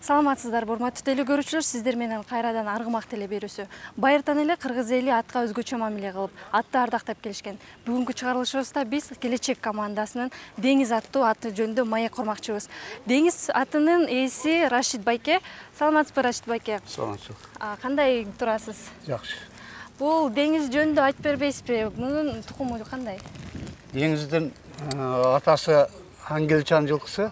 Саламатсыздарбы, урматтуу теле көрүүчүлөр, сиздер менен кайрадан аргымак теле берүүсү. Байыртан эле кыргыз эли атка өзгөчө мамиле кылып, атты ардактап келишкен. Бүгүнкү чыгарылышыбызда биз Келечек командасынын Деңиз аттуу аты жөнүндө маек курмакчыбыз. Деңиз атынын ээси Рашид байке. Саламатсызбы, Рашид байке? Саламатсыз. Кандай турасыз? Жакшы. Бул деңиз жөнүндө айтып бербейсизби? Мунун тукуму кандай? Деңиздин атасы Ангелчан жылкысы,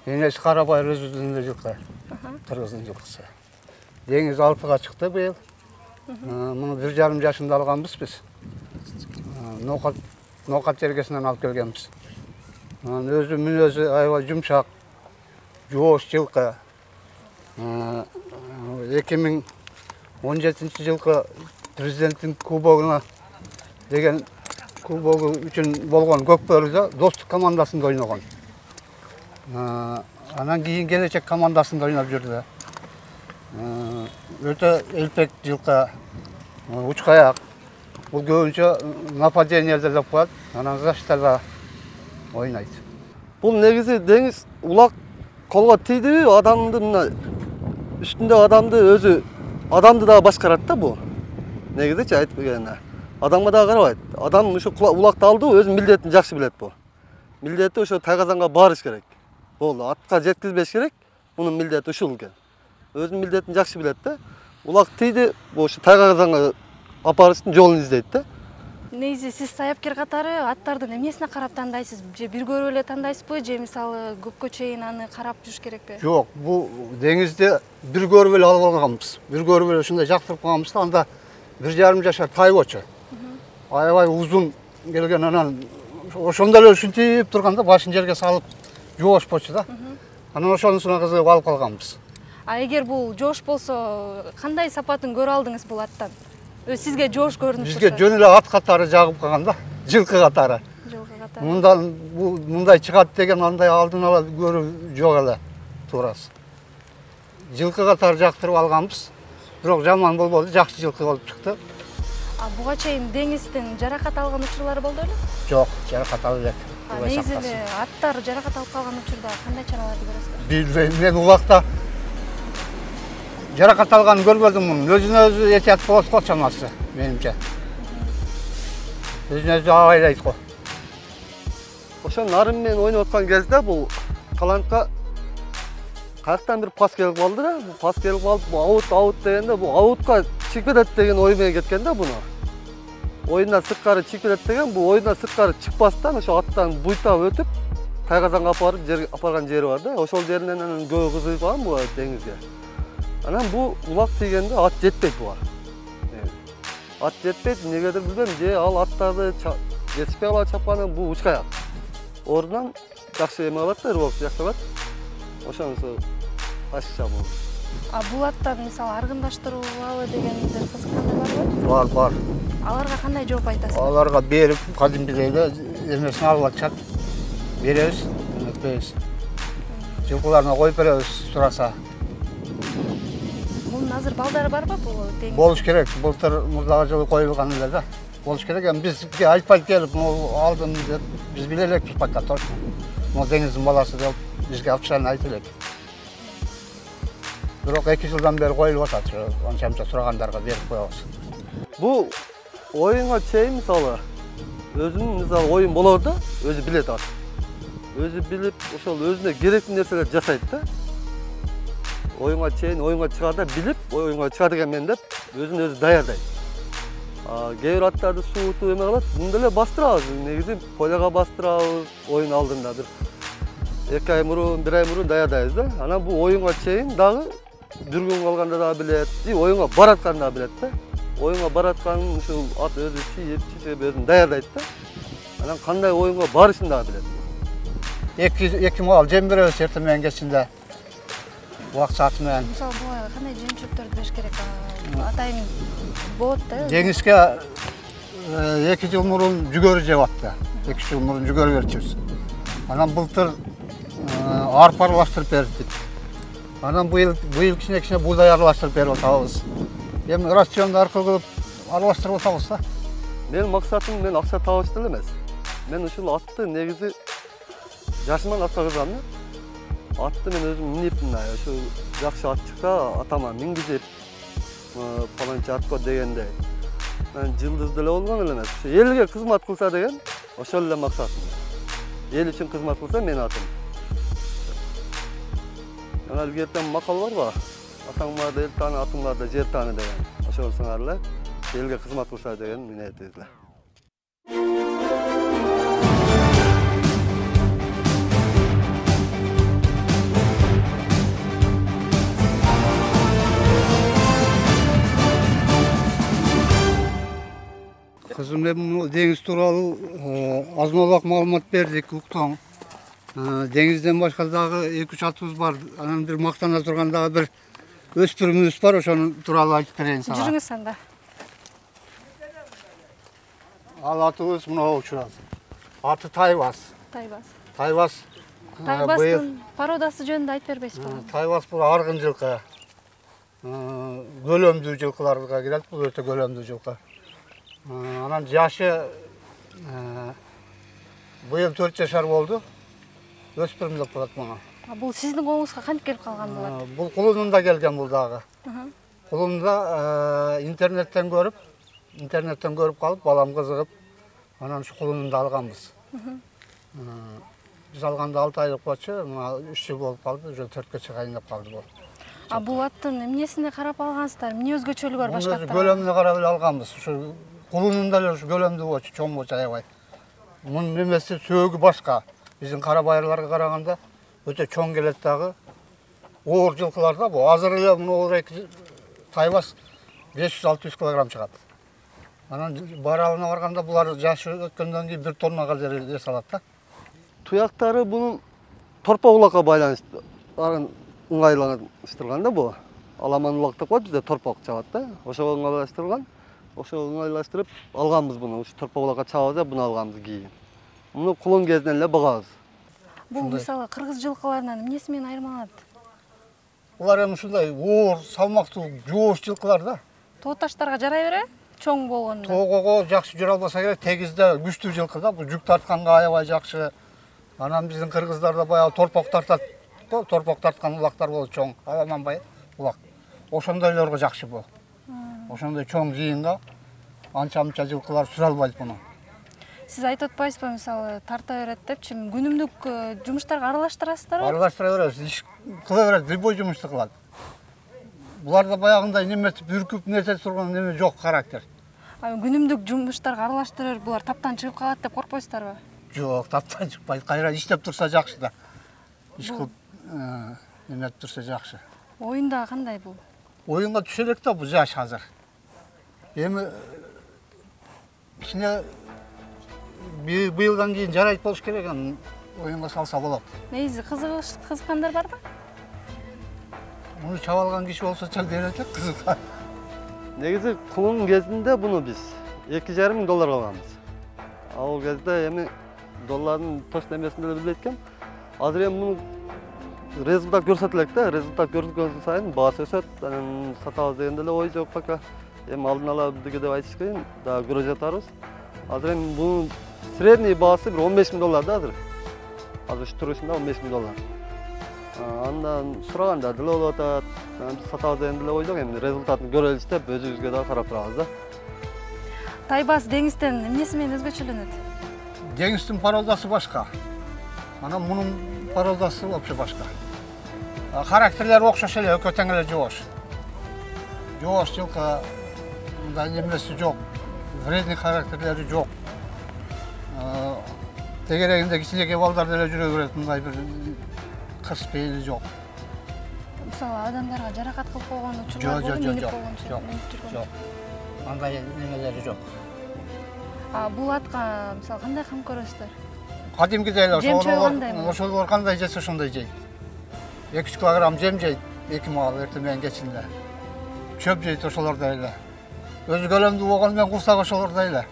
энеси Карабайыр өзүнүн жылкы. Кыргыздын жылкысы. Деңиз 6-га чыкты быйыл. Муну 1,5 жашында алганбыз биз. Ноокат жергесинен алып келгенбиз. Өзү мүнөзү аябай жумшак, жоош жылкы. 2017 жылкы президенттин кубогуна деген кубогу үчүн болгон Көкбөрүдө достук командасында ойногон. Анан кийин Келечек командасында ойноп жүрдү. Өтө элпек жылкы, учкаяк. Бул көбүнчө нападениеде деп коет, анан защитада ойнойт. Бул негизи деңиз улак колго тийдиби, адамды мына үстүндө адамды дагы башкарат да бул. Негизичи айтып келгенде. Адамга дагы карабайт. Адам ошо улакты алды, өзүнүн милдетин жакшы билет бул. Милдети ошо тайгазанга барыш керек. Болду, атка жеткизбеш керек. Мунун милдети ушул экен. Өзүнүн милдетин жакшы билет да. Улак тийди, ошо тайгазанга апарыштын жолун издейт да. Негизи сиз саяпкер катары аттардын эмнесине карап тандайсыз? Же бир көрүп эле тандайсызбы, же мисалы көпкө чейин аны карап жүрүш керекпи? Жок, бул деңизди бир көрүп эле алып алганбыз. Бир көрүп эле ушундай жактырып калганбыз да, анда 1,5 жашар тайгочу. Аябай узун келген, анан ошондо эле ушинтип турганда башын жерге салып жоош болчу да. Анан ошонусуна кызыгып алып калганбыз. Эгер бул жоош болсо, кандай сапатын көрө алдыңыз бул аттан? Сизге жоош көрүнүп турса? Бизге жөн эле ат катары жагып калган да, жылкы катары. Жылкы катары. Мындай чыгат деген андай алдын ала көрүү жок эле, туурасы. Жылкы катары жактырып алганбыз. Бирок жаман болбоду, жакшы жылкы болуп чыкты. Буга чейин деңиздин жаракат алган учурлары болду беле? Жок, жаракат алып элек. Негизи эле аттар жаракат алып калган учурда кандай чараларды көрөсүздөр? Билбейм, мен убакта жаракат алганын көрбөдүм. Өзүнө өзү этият болот го чамасы, менимче. Өзүнө өзү абайлайт го. Ошо нарын менен ойноп аткан кезде бул каланчка каяктан бир пас келип калды да. Бул пас келип калып, аут дегенде бул аутка чыгып кетет деген ой менен кеткен да буну. Оюндан сырткары чыгып кетет деген, бул оюндан сырткары чыкпастан ошо аттан буйтап өтүп, тайгазанга апарган жери бар да. Ошол жеринен анан көбү кызыгып калган бул деңизге. Анан бул улак тийгенде ат жетпейт буга. Ат жетпейт, эмнегедир билбейм, же ал аттарды жетишпей калып чапканы, бул учкаяк. Ордунан жакшы эме кылат да, рыбок жакшы кылат. Ошонусу башкача болду. Бул аттан мисалы аргындаштыруулабы дегендер кызыккандар барбы? Бар. Аларга кандай жооп айтасыз? Аларга берип, кадимгидей эле эмесин алып атышат. Беребиз, өтпөйбүз. Жылкыларына коюп беребиз сураса. Мунун азыр балдары барбы бул деңиз? Болуш керек. Былтыр мурдагы жылы коюлган эле да. Болуш керек. Эми бизге айтпайт келип, алдым деп биз биле элекпиз пока точно. Могу деңиздин баласы деп бизге официально айтып элек. Бирок 2 жылдан бери коюлуп атат, анча-мынча сурагандарга берип коебуз. Бул оюнга чейин мисалы өзүнүн оюн болор да, өзү билет ат. Өзү билип, ошол өзүнө керектүү нерселерди жасайт да. Оюнга чейин, оюнга чыгаарда билип, оюнга чыга деген мен деп өзүн өзү даярдайт. Кээ бир аттарды суутуп эме кылат, мындай эле бастырабыз. Негизи поляга бастырабыз, оюн алдында бир 2 ай мурун, 1 ай мурун даярдайбыз да. Анан бул оюнга чейин дагы дүргүн калганда дагы билет, оюнга баратканда дагы билет да. Оюнга баратканын ушул ат өзү чийип өзүн даярдайт да. Анан кандай оюнга барышын дагы билет. 2 мал жем беребиз эртең менен кечинде. Убак сааты менен. Мисалы буга кандай жем-чөптөрдү бериш керек? Атайын болот да. Деңизге 2 жыл мурун жүгөрү жеп атты. 2 жыл мурун жүгөрү берчүбүз. Анан былтыр арпа аралаштырып бердик. Анан быйыл кичине буудай аралаштырып берип атабыз. Эми рационду аркылуу кылып аралаштырып атабыз да. Менин максатым мен акча табыш деле эмес. Мен ушул атты негизи жашыман атка кызгам да. Атты мен өзüm минипмин, ошо жакшы ат чыкса атама мингизип, паланча атко дегендей. Мен жылдыз деле болгон эле эмес. Ошо элге кызмат кылса деген, ошол эле максатым. Эл үчүн кызмат кылса мен атым. Ана илгертен макал барбы? Атаң барда эл тааны, атың барда жер тааны деген. Ошол сыңар эле элге кызмат кылса деген ниетибиз эле. Кызым, мен деңиз тууралуу азмалак маалымат бердик, уктуң. Деңизден башка дагы 2-3 атыбыз бар. Анан бир мактана турган дагы бир өспүрүмүбүз бар, ошонун тууралуу айтып берейин сага. Жүрүңүз анда. Ал атыбыз мына учурат. Аты Тайбас. Тайбас. Тайбас. Тайбастын пародасы жөнүндө айтып бербейсизби? Тайбас бул аргын жылкы. Көлөмдүү жылкыларга кирет, бул өтө көлөмдүү жылкы. Анан жашы быйыл 4 жашар болду. Өспүрүм деп коет муну. Бул сиздин колуңузга кантип келип калган болот? Бул кулунунда келген бул дагы. Кулунда интернеттен көрүп калып, балам кызыгып, анан ушу кулунунда алганбыз. Биз алганда 6 айлык болчу, мына 3 жыл болуп калды, уже 4кө чыгайын деп калды бул. Бул аттын эмнесине карап алгансыздар? Эмне өзгөчөлүгү бар башка аттардан? Көлөмүнө карап эле алганбыз. Ушу кулунунда эле ушу көлөмдүү болчу, чоң болчу аябай. Мунун немеси сөөгү башка. Биздин кара байырларга караганда өтө чоң келет дагы. Оор жылкыларда бул азыр эле мына Тайбас 500-600 килограмм чыгат. Анан баралына барганда булар жашы өткөндөн кийин 1 тоннага эсе салат да. Туяктары бунун торпо улакка байланыштуу ыңгайлаштырган да бул. Аламан улак деп коет, бизде торпок чабат да. Ошого ыңгайлаштырган. Ошого ыңгайлаштырып алганбыз буну. Ушу торпо улакка чабабыз да, буну алганбыз кийин. Муну кулун кезинен эле багабыз. Бул мисалы кыргыз жылкыларынан эмнеси менен айырмаланат? Булар эми ушундай оор, салмактуу, жоош жылкылар да. Тоо таштарга жарай береби? Чоң болгондо. Тоого жакшы жүрө албаса керек, тегизде күчтүү жылкы да. Бул жүк тартканга аябай жакшы. Анан биздин кыргыздарда баягы торпок тартат. Торпок тарткан улактар болот чоң, аламанбай улак. Ошондойлорго жакшы бул. Ошондой чоң жыйынга анча-мынча жылкылар сүрө албайт муну. Сиз айтып атпайсызбы, мисалы тарта берет депчи, күнүмдүк жумуштарга аралаштырасыздарбы? Аралаштыра беребиз, иш кыла берет, любой жумушту кылат. Буларда баягындай неметип, үркүп нете турган неме жок, характер. Күнүмдүк жумуштарга аралаштырып, булар таптан чыгып калат деп коркпойсуздарбы? Жок, таптан чыкпайт. Кайра иштеп турса жакшы да. Иш кылып неметип турса жакшы. Оюнда кандай бул? Оюнга түшө элек да бул жаш азыр. Эми кичине быйылдан кийин жарайт болуш керек, анан оюнга салса болот. Негизи кызыккандар барбы? Муну чаба алган киши болсо чал берет элек, кызыккан. Негизи кулунун кезинде буну биз $2,500 алганбыз. Ал кезде эми доллардын точно эмесин деле билбейт экем. Азыр эми муну результат көрсөт элек да, результат көрсөткөн сайын баасы өсөт, анан сатабыз деген деле ой жок пока. Эми алдын ала бизге деп айтыш кыйын, дагы көрө жатарбыз. Азыр эми бунун средний баасы бир $15,000 да азыр. Азыр ушу турушунда $15,000. Андан сураганда деле болуп атат. Биз сатабыз деген деле ой жок, эми результатын көрөлүч деп өзүбүзгө дагы карап турабыз да. Тайбас деңизден эмнеси менен өзгөчөлөнөт? Деңиздин пародасы башка. Анан мунун пародасы вообще башка. Характерлери окшош эле, экөө тең эле жоош. Жоош жылкы, мындай немеси жок. Вредный характерлери жок. Тегерегинде кичинекей балдар деле жүрө берет, мындай бир кырс пейили жок. Мисалы адамдарга жаракат кылып койгон учурлар болду, жок. Андай немелери жок. Бул атка мисалы кандай кам көрөсүздөр? Кадимкидей эле ошолор кандай жесе ошондой жейт. 2-3 килограмм жем жейт, 2 маал эртең менен кечинде. Чөп жейт ошолордой эле. Өзү көлөмдүү болгону менен курсак ошолордой эле.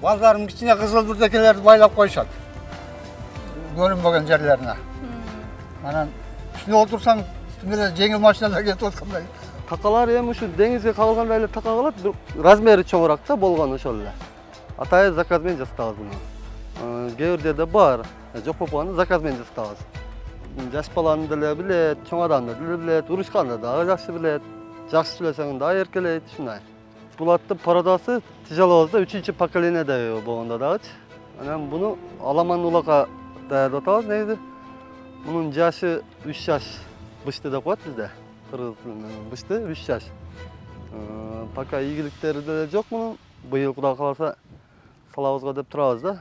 Балдарым кичине кызыл бүрдекелерди байлап коюшат. Көрүнбөгөн жерлерине. Анан үстүнө отурсаң, эле жеңил машинада кетип аткандай. Такалар эми ушу деңизге кагылгандай эле така калат, бирок размери чоңураак да болгону ошол эле. Атайын заказ менен жасатабыз буну. Кээ бир жерде бар, жок болуп калганда заказ менен жасатабыз. жаш баланы деле билет, чоң адамды деле билет, урушканды дагы жакшы билет. Жакшы сүйлөсөң дагы эркелейт, ушундай. Бул аттын породасы тяжелоозда 3-чү поколениеде болгондо дагычы. Анан буну аламан улакка даярдап атабыз негизи. Мунун жашы 3 жаш бышты деп коет бизде. Кыргыз тилинен бышты 3 жаш. Пока ийгиликтери деле жок мунун. Быйыл Кудай кааласа салабызга деп турабыз да.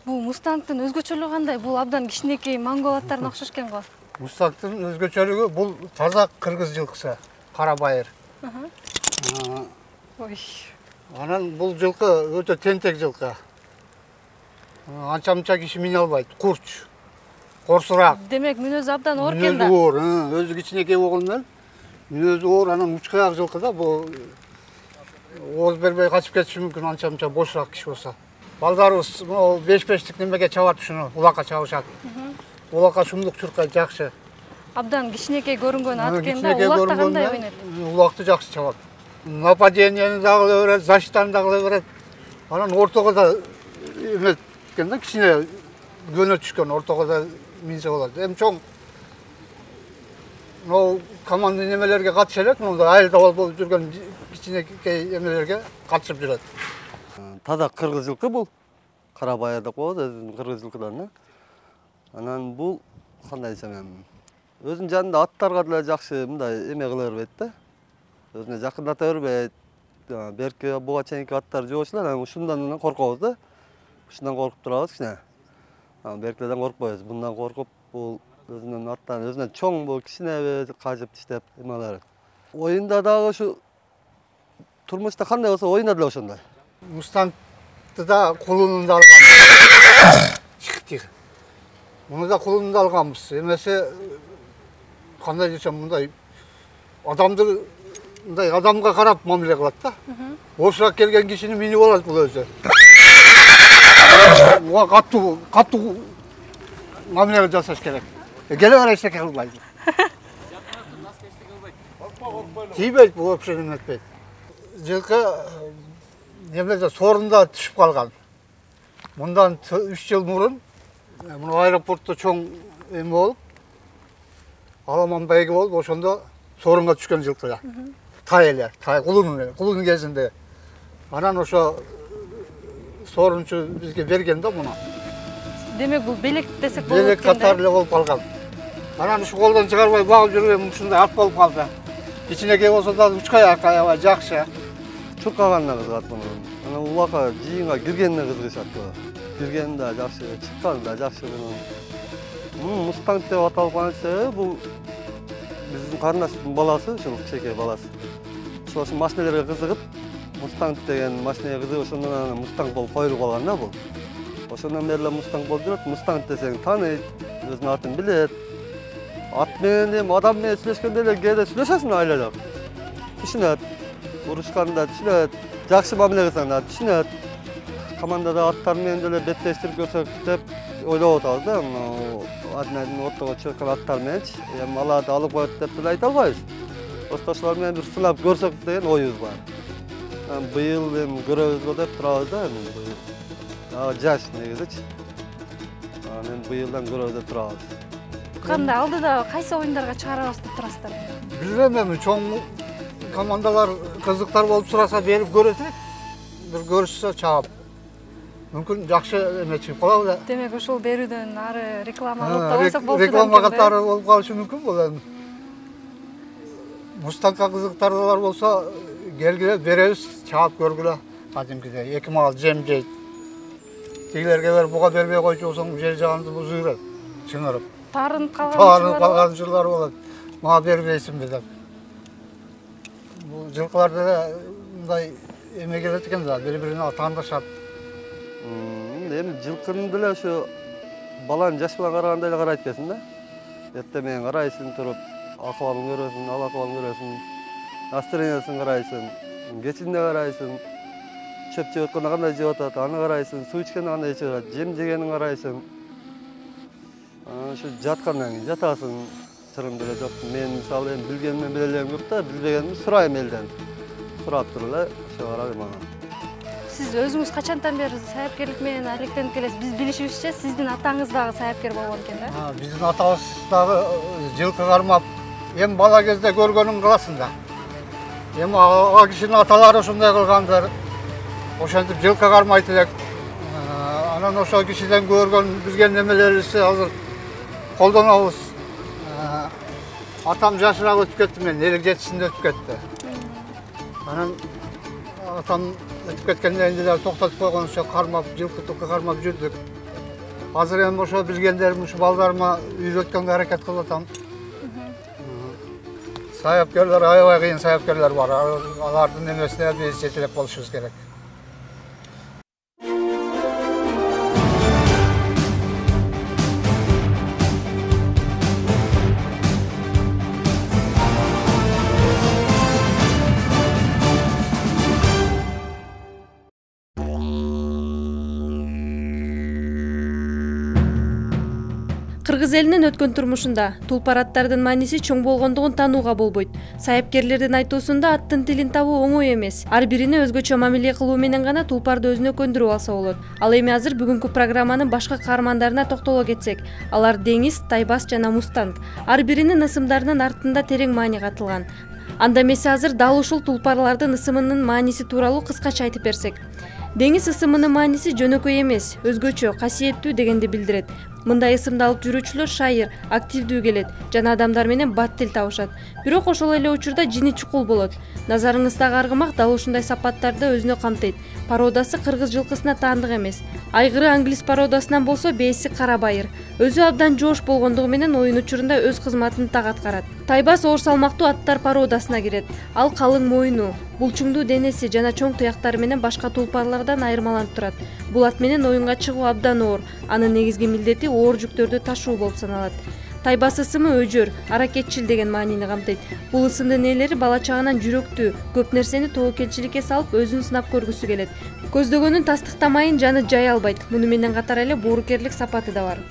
Бул мустангдын өзгөчөлүгү кандай? Бул абдан кичинекей монгол аттарына окшош экен го. Мустангдын өзгөчөлүгү бул таза кыргыз жылкысы, кара байыр. Ой. Анан бул жылкы өтө тентек жылкы. Анча-мынча киши мине албайт, курч, корсураак. Демек мүнөзү абдан оор экен да. Мүнөзү оор, өзү кичинекей болгондон мүнөзү оор, анан учкаяк жылкы да, бул ооз бербей качып кетиши мүмкүн анча-мынча бошураак киши болсо. Балдарыбыз могу 5-5тик немеге чабат ушуну, улакка чабышат. Улакка шумдук чуркайт жакшы. Абдан кичинекей көрүнгөн ат экен да, улакта кандай ойнойт? Улакты жакшы чабат. Нападенияны дагы кыла берет, защитаны дагы кыла берет. Анан ортого да эме экен да, кичине көнө түшкөн, ортого да минсе болот. Эми чоң могу команда немелерге катыша элек, мындай айылда болуп жүргөн кичинекей эмелерге катышып жүрөт. Таза кыргыз жылкы бул. Кара байыр деп коебуз, өзүнүн кыргыз жылкыдан да. Анан бул кандай десем эми, өзүнүн жанында аттарга деле жакшы мындай эме кыла бербейт да. Өзүнө жакындата бербейт. Берки буга чейинки аттар жок эле, анан ушундан коркобуз да. Ушундан коркуп турабыз кичине. Беркилерден коркпойбуз. Bundan коркуп, бул өзүнүн аттан, өзүнөн чоң бул кичине кажып тиштеп эме кыла берет. Оюнда дагы ушу турмушта кандай болсо, оюнда деле ошондой. Мустангды да кулунунда алганбыз. Чыктык. Муну да кулунунда алганбыз. Эмесе кандай десем, мындай адамды мындай адамга карап мамиле кылат да. Бошураак келген кишини минип алат бул өзү. Буга каттуу мамиле жасаш керек. Келе бара эчтеке кылбайт. Тийбейт, бул вообще эметпейт. Жылкы немеде сорунда түшүп калган. Мындан 3 жыл мурун мына аэропортто чоң эме болуп, аламан байги болуп, ошондо сорунга түшкөн жылкы. Тай эле, кулунун кезинде. Анан ошо сорунчу бизге берген да муну. Демек бул белек десек болот Белек экен да. катары эле болуп калган. Анан ушу колдон чыгарбай багып жүргөн ушундай ат болуп калды. Кичинекей болсо да учкаяк аябай жакшы. Чуркаганына кызыгат муну. Анан улакка жыйынга киргенине кызыгышат көбү. Киргени да жакшы, чыкканы да жакшы мунун. Мустанг деп аталып калган себеби бул биздин карындаштын баласы, ушул кичинекей баласы. Ошол машинелерге кызыгып, Мустанг деген машинеге кызыгып, ошондон анан Мустанг болуп коюлуп калган да бул. Ошондон бери эле Мустанг болуп жүрөт. Мустанг десең тааныйт, өзүнүн атын билет. Ат менен эми адам менен сүйлөшкөндө эле кээде сүйлөшөсүң айлалап. Түшүнөт. Урушканда түшүнөт. Жакшы мамиле кылсаң да түшүнөт. Командада аттар менен деле беттештирип көрсөк деп ойлоп атабыз да. Адын ортого чыккан аттар мененчи. Эми аларды алып коет деп деле айта албайбыз. Просто ошолор менен бир сынап көрсөк деген оюбуз бар. Быйыл эми көрөбүз го деп турабыз да, эми быйыл. Жаш негизичи. Эми быйылдан көрөбүз деп турабыз. Кандай алдыда кайсы оюндарга чыгарабыз деп турасыздар? Билбейм эми, чоң командалар кызыктар болуп сураса берип көрөтүк. Бир көрүшсө чаап. Мүмкүн жакшы эме чыгып калабы да. Демек ушул берүүдөн ары реклама кылып да койсок болот. Реклама катары болуп калышы мүмкүн бул эми. Мустангга кызыктарлар болсо келгиле беребиз, чаап көргүлө. Кадимкидей 2 мал жем жейт. Тигилерге берип буга бербей койчу болсоң жер жаганды бузуп жүрөт, чыңырып. Тарынып калган жылдар болот. Мага бербейсиңби деп. Бул жылкылар деле мындай эме келет экен да, бири-бирине таандашат. Эми жылкыны деле ошо баланы жаш баланы карагандай эле карайт экенсиң да. Эртең менен карайсың туруп, акыбалын көрөсүң, ал акыбалын көрөсүң, настроениясын карайсың, кечинде карайсың, чөп жеп атканда кандай жеп атат, аны карайсың, суу ичкенде кандай ичип атат, жем жегенин карайсың. Ошо жаткандан кийин жатасың, чырым деле жок. Мен мисалы эми билгенмен биле элем жок да, билбегенимди сурайм элден. Сурап туруп эле ошо карайм ага. Сиз өзүңүз качантан бери саяпкерлик менен алектенип келесиз? Биз билишибизче, сиздин атаңыз дагы саяпкер болгон экен да? Биздин атабыз дагы жылкы кармап, эми бала кезде көргөнүң кыласың да. Эми ага кишинин аталары ушундай кылгандар. Ошентип жылкы кармайт элек. Анан ошол кишиден көргөн билген немелерибизди азыр колдонобуз. Атам жашыраак өтүп кетти, мен 57-синде өтүп кетти. Анан атам өтүп кеткенден кийин токтотуп койгончо кармап, жылкы кармап жүрдүк. Азыр эми ошо билгендерим ушу балдарыма үйрөткөнгө аракет кылып атам. Саяпкерлер аябай кыйын саяпкерлер бар. Алардын немесине биз жетелеп болушубуз керек. Кыргыз элинин өткөн турмушунда тулпар аттардын мааниси чоң болгондугун таанууга болбойт. Саяпкерлердин айтуусунда аттын тилин табуу оңой эмес. Ар бирине өзгөчө мамиле кылуу менен гана тулпарды өзүнө көндүрүп алса болот. Ал эми азыр бүгүнкү программанын башка каармандарына токтоло кетсек, алар Деңиз, Тайбас жана Мустанг. Ар биринин ысымдарынын артында терең маани катылган. Анда эмесе азыр дал ушул тулпарлардын ысымынын мааниси тууралуу кыскача айтып берсек. Деңиз ысымынын мааниси жөнөкөй эмес, өзгөчө, касиеттүү дегенди билдирет. Мындай ысымды алып жүрүүчүлөр шайыр, активдүү келет жана адамдар менен бат тил табышат. Бирок ошол эле учурда жини чукул болот. Назарыңыздагы аргымак дал ушундай сапаттарды өзүнө камтыйт. Породасы кыргыз жылкысына таандык эмес. Айгыры англис породасынан болсо бээси кара байыр. Өзү абдан жоош болгондугу менен оюн учурунда өз кызматын так аткарат. Тайбас оор салмактуу аттар породасына кирет. Ал калың моюну, булчуңдуу денеси жана чоң туяктары менен башка тулпарлардан айырмаланып турат. Бул ат менен оюнга чыгуу абдан оор. Анын негизги милдети оор жүктөрдү ташуу болуп саналат. Тайбас ысымы өжөр, аракетчил деген маанини камтыйт. Бул ысымдын ээлери бала чагынан жүрөктүү, көп нерсени тобокелчиликке салып өзүн сынап көргүсү келет. Көздөгөнүн тастыктамайын жаны жай албайт. Муну менен катар эле боорукерлик сапаты да бар.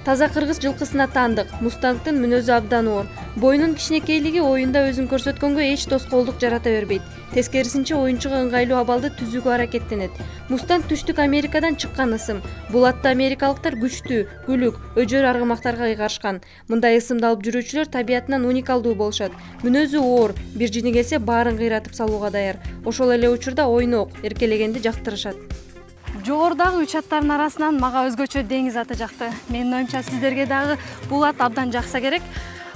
Таза кыргыз жылкысына таандык. Мустангдын мүнөзү абдан оор. Боюнун кичинекейлиги оюнда өзүн көрсөткөнгө эч тоскоолдук жарата бербейт. Тескерисинче оюнчуга ыңгайлуу абалды түзүүгө аракеттенет. Мустанг түштүк Америкадан чыккан ысым. Бул атты америкалыктар күчтүү, күлүк, өжөр аргымактарга ыйгарышкан. Мындай ысымды алып жүрүүчүлөр табиятынан уникалдуу болушат. Мүнөзү оор, бир жини келсе баарын кыйратып салууга даяр. Ошол эле учурда ойнок, эркелегенди жактырышат. Жогорудагы 3 аттардын арасынан мага өзгөчө Деңиз аты жакты. Менин оюмча сиздерге дагы бул ат абдан жакса керек.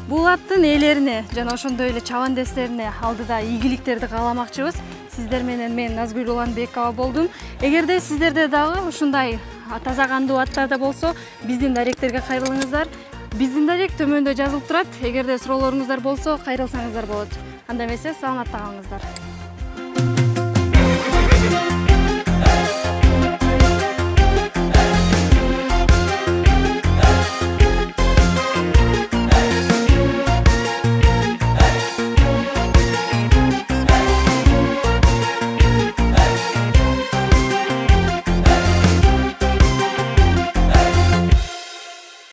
Бул аттын ээлерине жана ошондой эле чабандестерине алдыда ийгиликтерди кааламакчыбыз. Сиздер менен мен Назгүл Уланбекова болдум. Эгерде сиздерде дагы ушундай таза кандуу аттарда болсо, биздин даректерге кайрылыңыздар. Биздин дарек төмөндө жазылып турат. Эгерде суроолоруңуздар болсо, кайрылсаңыздар болот. Анда эмесе саламатта калыңыздар.